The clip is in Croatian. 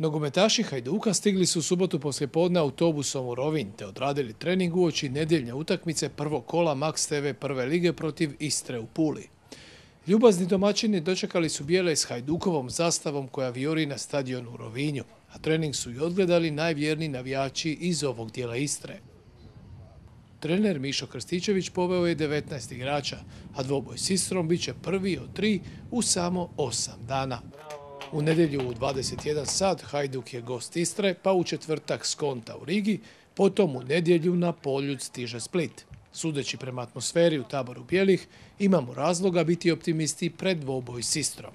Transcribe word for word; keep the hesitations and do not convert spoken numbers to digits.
Nogometaši Hajduka stigli su u subotu poslijepodne autobusom u Rovinj te odradili trening uoči nedjeljne utakmice prvog kola Max te ve prve lige protiv Istre u Puli. Ljubazni domaćini dočekali su bijele s Hajdukovom zastavom koja vijori na stadionu u Rovinju, a trening su i odgledali najvjerniji navijači iz ovog dijela Istre. Trener Mišo Krstičević poveo je devetnaest igrača, a dvoboj s Istrom bit će prvi od tri u samo osam dana. U nedjelju u dvadeset jedan sat Hajduk je gost Istre, pa u četvrtak Skonta u Rigi, potom u nedjelju na Poljud stiže Split. Sudeći prema atmosferi u taboru bijelih, imamo razloga biti optimisti pred dvoboj s Istrom.